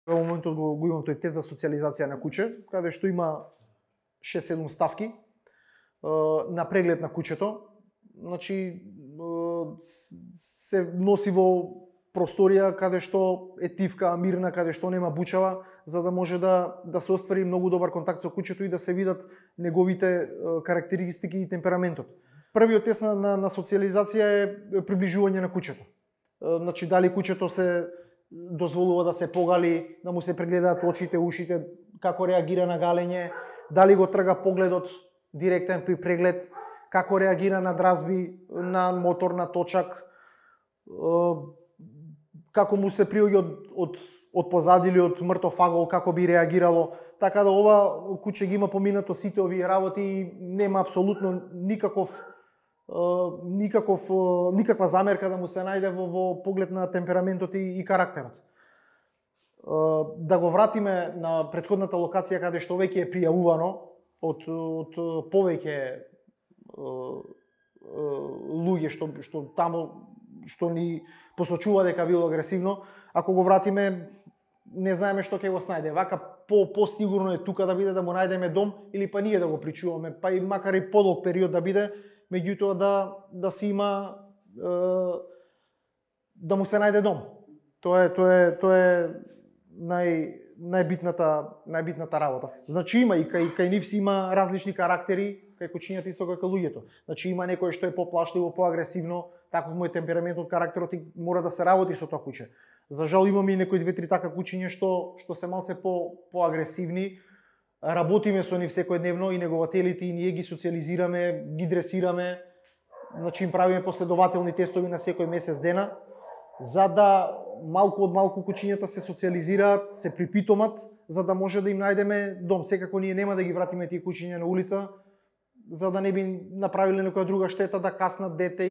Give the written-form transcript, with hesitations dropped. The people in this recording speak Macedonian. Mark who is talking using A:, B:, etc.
A: Во моментот го имам тој тест за социализација на куќе, каде што има 6-7 ставки на преглед на куќето. Значи, се носи во просторија каде што е тивка, мирна, каде што нема бучава, за да може да се оствари многу добар контакт со куќето и да се видат неговите карактеристики и темпераментот. Првиот тест на социализација е приближување на куќето. Значи, дали куќето се дозволува да се погали, да му се прегледаат очите, ушите, како реагира на галење, дали го трга погледот директен при преглед, како реагира на дразби, на мотор, на точак, како му се приоѓа од позади или од мртов агол, како би реагирало. Така да ова куќе ги има поминато сите овие работи и нема апсолутно никаква замерка да му се најде во поглед на темпераментот и карактерот. Да го вратиме на претходната локација каде што веќе е пријавувано од повеќе луѓе што ни посочува дека било агресивно. Ако го вратиме, не знаеме што ќе го снајде. Вака по-сигурно е тука да биде да му најдеме дом или па ние да го причуваме, па и макар и подолг период да биде, меѓутоа да си има да му се најде дом. Тоа е најбитната работа. Значи има и кај нив си има различни карактери, кај кучињата исто како луѓето. Значи има некој што е поплашливо, поагресивно, таков му е темпераментот, карактерот и мора да се работи со тоа куќе. За жал имаме и некои 2-3 така кучиња што се малце поагресивни. Работиме со нив секојдневно и негователите и ние ги социализираме, ги дресираме, значи им правиме последователни тестови на секој месец дена, за да малку од малку кучињата се социализираат, се припитомат, за да може да им најдеме дом. Секако ние нема да ги вратиме тие кучиња на улица, за да не би направиле некоја друга штета, да каснат дете.